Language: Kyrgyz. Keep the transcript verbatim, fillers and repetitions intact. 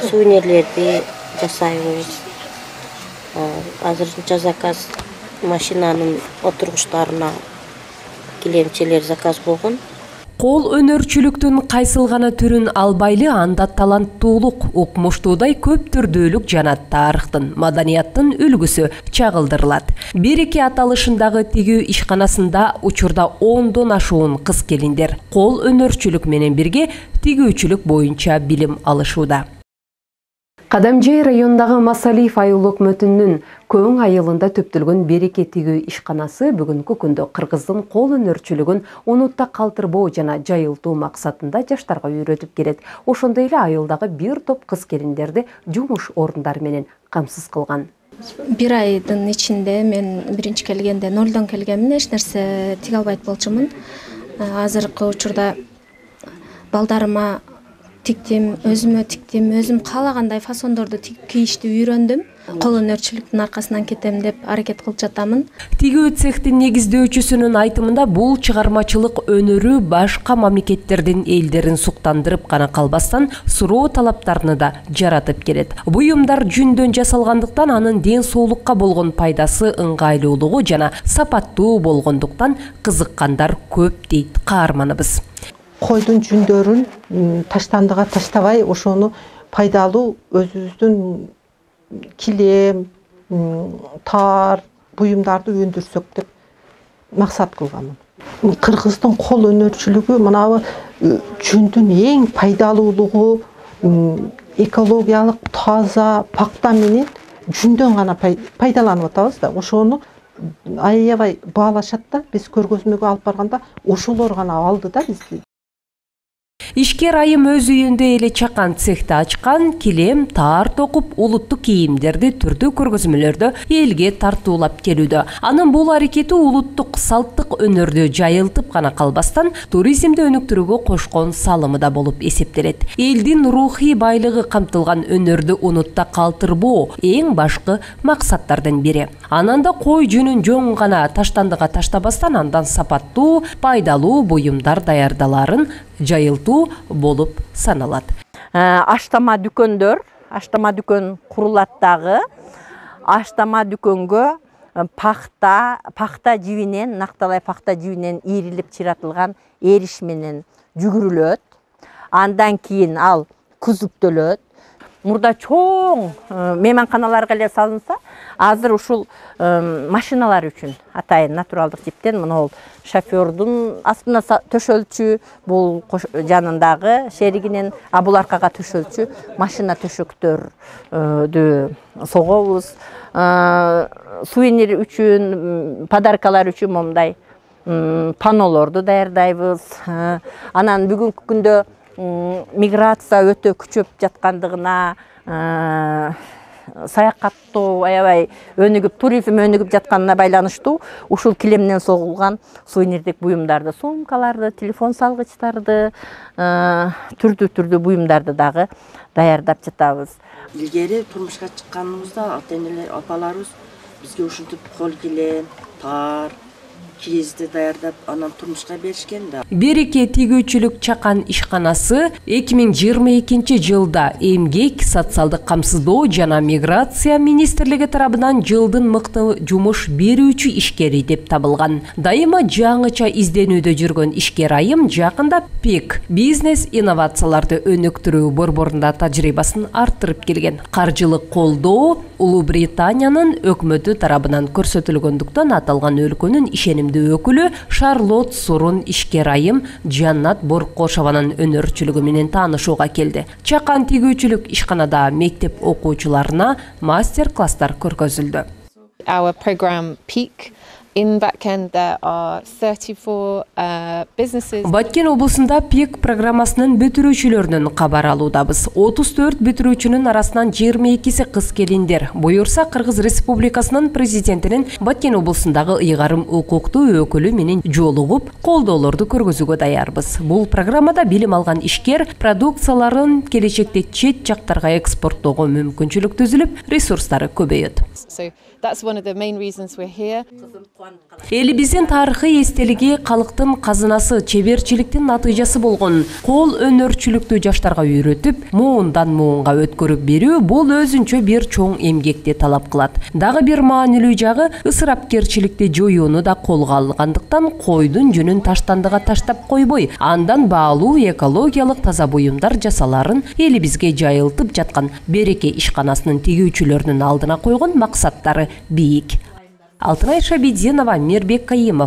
Сувенирлерди жасайбыз. Азырынча заказ машинанын отургучтарына килемчелер заказ болгон. Кол өнөрчүлүктүн кайсыл гана түрүн албайлы, анда таланттуулук, укмуштуудай көп түрдүүлүк жана тарыхтын, маданияттын үлгүсү чагылдырылат. Береке аталышындагы тигүү ишканасында учурда ондон ашуун кыз келиндер кол өнөрчүлүк менен бирге тигүүчүлүк боюнча билим алышууда. Кадамжай районундагы Масалиев айыл өкмөтүнүн Көң айылында төптөлгөн Береке тигүү ишканасы бүгүнкү күндө кыргыздын кол өнөрчүлүгүн унутта калтырбоо жана жайылтуу максатында жаштарга үйрөтүп келет. Ошондой эле айылдагы бир топ кыз келиндерди жумуш орундары менен камсыз кылган. Бир айдын ичинде мен биринчи келгенде нолдон келгенмин, эч нерсе тиге албайт болчумун. Азыркы учурда балдарыма тиктим, өзүмө тиктим, өзүм каалагандай фасондорду кийишти үйрөндүм. Кол өнөрчүлүктүн аркасынан кетем деп аракет кылып жатамын. Тигүү цехтин негиздөөчүсүнүн айтымында бул чыгармачылык өнөрү башка мамлекеттердин элдерин суктандырып гана калбастан, суроо талаптарны да жаратып келет. Буюмдар жүндөн жасалгандыктан анын ден соолукка болгон пайдасы ыңгайлуулугу жана сапаттуу болгондуктан кызыккандар көп дейт каарманыбыз. Койдун жүндөрүн таштандыга таштабай, ошону пайдалуу өзүбүздүн килем, таар, буюмдарды өндүрсөк деп максат кылганмын. Кыргыздын кол өнөрчүлүгү мынабы жүндүн эң пайдалуулугу, экологиялык таза пакта менен жүндөн гана пайдаланып атабыз да. Ошону аябай баалашат да, биз көргөзмөгө алып барганда ошолор гана алды да бизди. Ишкер айым өз үйүндө эле чакан цехти ачкан, килем, таар токуп, улуттук кийимдерди түрдүү көргөзмөлөрдө элге тартуулап келүүдө. Анын бул аракети улуттук салттык өнөрдү жайылтып гана калбастан, туризмди өнүктүрүүгө кошкон салымы да болуп эсептелет. Элдин рухий байлыгы камтылган өнөрдү унутта калтырбоо эң башкы максаттардын бири. Ананда кой жүнүн жоң гана таштандыга таштабастан, андан сапаттуу, пайдалуу буюмдар даярдаларын жайылтуу болуп саналат. Аштама дүкөндөр, аштама дүкөн курулат дагы. Аштама дүкөнгө пахта, пахта жибинен, накталай пахта жибинен ийрилип чыратылган эриш менен жүгүрүлөт. Андан кийин ал күзүктөлөт. Мурда чоң мейманканаларга эле салынса, азыр ушул машиналар үчүн атайын натуралдык типтен монол шофёрдун астына төшөлчү, бул жанындагы шеригинен, а бул аркага төшөлчү машина төшөктөрдү согобуз. Сувенир үчүн, подаркалар үчүн момундай панолорду даярдайбыз. Анан бүгүнкү күндө миграция өтө күчөп жаткандыгына, саякаттоо аябай өнүгүп, туризм өнүгүп жатканына байланыштуу ушул килемден согулган сувенирдик буюмдарды, сумкаларды, телефон салгычтарды, түрдүү-түрдүү буюмдарды дагы даярдап жатабыз. Илгери турмушка чыкканыбызда ата-энелер, апаларыбыз бизге ушинтип кол килем, таар, киезди даярдап, анан турмушка беришкен да. Береке тигүүчүлүк чакан ишканасы эки миң жыйырма экинчи жылда Эмгек, социалдык камсыздоо жана миграция министрлиги тарабынан жылдын мыкты жумуш берүүчү ишкери деп табылган. Дайыма жаңыча изденүүдө жүргөн ишкер айым жакында ПИК бизнес инновацияларды өнүктүрүү борборунда тажрыйбасын арттырып келген. Каржылык колдоо Улуу Британиянын өкмөтү тарабынан көрсөтүлгөндүктөн аталган өлкөнүн ишеним өкүлү Шарлот Сурун ишкер айым Жаннат Боркошованын өнөрчүлүгү менен таанышууга келди. Чакан тигүүчүлүк ишканада мектеп окуучуларына мастер-класстар көргөзүлдү. Our program Peak. In Баткен there are thirty-four uh, businesses. Баткен облусунда ПИК программасынын бүтүрүүчүлөрүнөн кабар алуудабыз. отуз төрт бүтүрүүчүнүн арасынан жыйырма экиси кыз келиндер. Буюрса Кыргыз Республикасынын президентинин Баткен облусундагы ыйгарым укуктуу өкүлү менен жолугуп, колдоолорду көргөзүүгө даярбыз. Бул программада билим алган ишкер продукцияларын келечекте чет жактарга экспорттоого мүмкүнчүлүк түзүлүп, ресурстары көбөйөт. So that's one of the main reasons we're here. Элибиздин тарыхый эстелиги калктын казынасы, чеберчиликтин натыйжасы болгон кол өнөрчүлүктү жаштарга үйрөтүп, муундан муунга өткөрүп берүү бул өзүнчө бир чоң эмгекти талап кылат. Дагы бир маанилүү жагы ысырапкерчиликти жоюуну да колго алгандыктан койдун жүнүн таштандыга таштап койбой, андан баалуу экологиялык таза буюмдар жасаларын элибизге жайылтып жаткан Береке ишканасынын тигүүчүлөрүнүн алдына койгон максаттары бийик. Алтынай Шабидинова, Мирбек Кайымов.